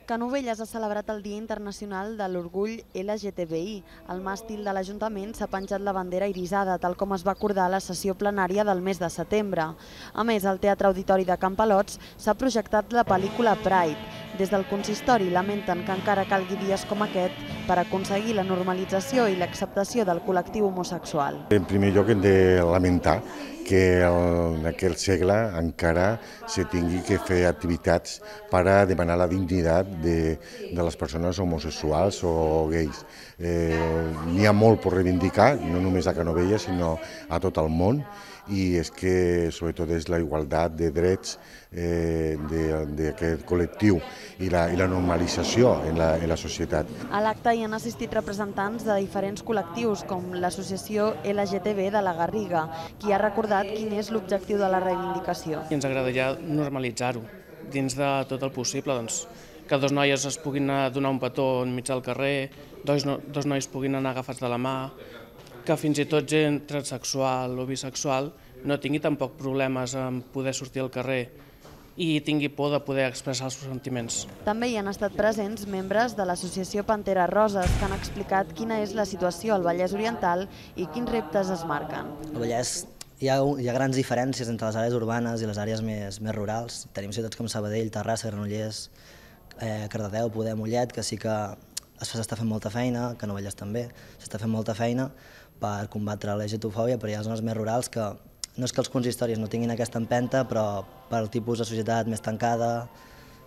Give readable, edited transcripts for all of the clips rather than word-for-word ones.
Canovelles ha celebrat el Dia Internacional de l'Orgull LGTBI. Al màstil de l'Ajuntament s'ha penjat la bandera irisada, tal com es va acordar a la sessió plenària del mes de setembre. A més, al Teatre Auditori de Campalots s'ha projectat la pel·lícula Pride. Des del consistori lamenten que encara calgui dies com aquest per aconseguir la normalització i l'acceptació del col·lectiu homosexual. En primer lloc hem de lamentar que en aquell segle encara se tingui que fer activitats per a demanar la dignitat de les persones homosexuals o gais. N'hi ha molt per reivindicar, no només a Canovelles, sinó a tot el món, i és que sobretot és la igualtat de drets d'aquest col·lectiu i la normalització en la societat. A l'acte hi han assistit representants de diferents col·lectius, com l'associació LGTB de la Garriga, qui ha recordat quin és l'objectiu de la reivindicació. I ens agradaria normalitzar-ho dins de tot el possible, que dos noies es puguin donar un petó enmig del carrer, dos nois puguin anar agafats de la mà, que fins i tot gent transsexual o bisexual no tingui tampoc problemes en poder sortir al carrer i tingui por de poder expressar els seus sentiments. També hi han estat presents membres de l'associació Pantera Roses, que han explicat quina és la situació al Vallès Oriental i quins reptes es marquen. Al Vallès hi ha grans diferències entre les àrees urbanes i les àrees més rurals. Tenim ciutats com Sabadell, Terrassa, Granollers, Cardedeu, Poder, Mollet, que sí que s'està fent molta feina, Canovelles també, s'està fent molta feina per combatre la LGTB-fòbia, però hi ha zones més rurals que no és que els consistoris no tinguin aquesta empenta, però pel tipus de societat més tancada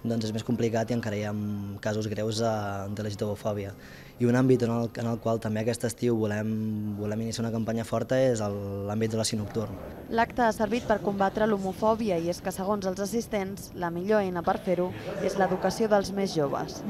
doncs és més complicat i encara hi ha casos greus de LGTB-fòbia. I un àmbit en el qual també aquest estiu volem iniciar una campanya forta és l'àmbit de l'oci nocturn. L'acte ha servit per combatre l'homofòbia i és que, segons els assistents, la millor eina per fer-ho és l'educació dels més joves.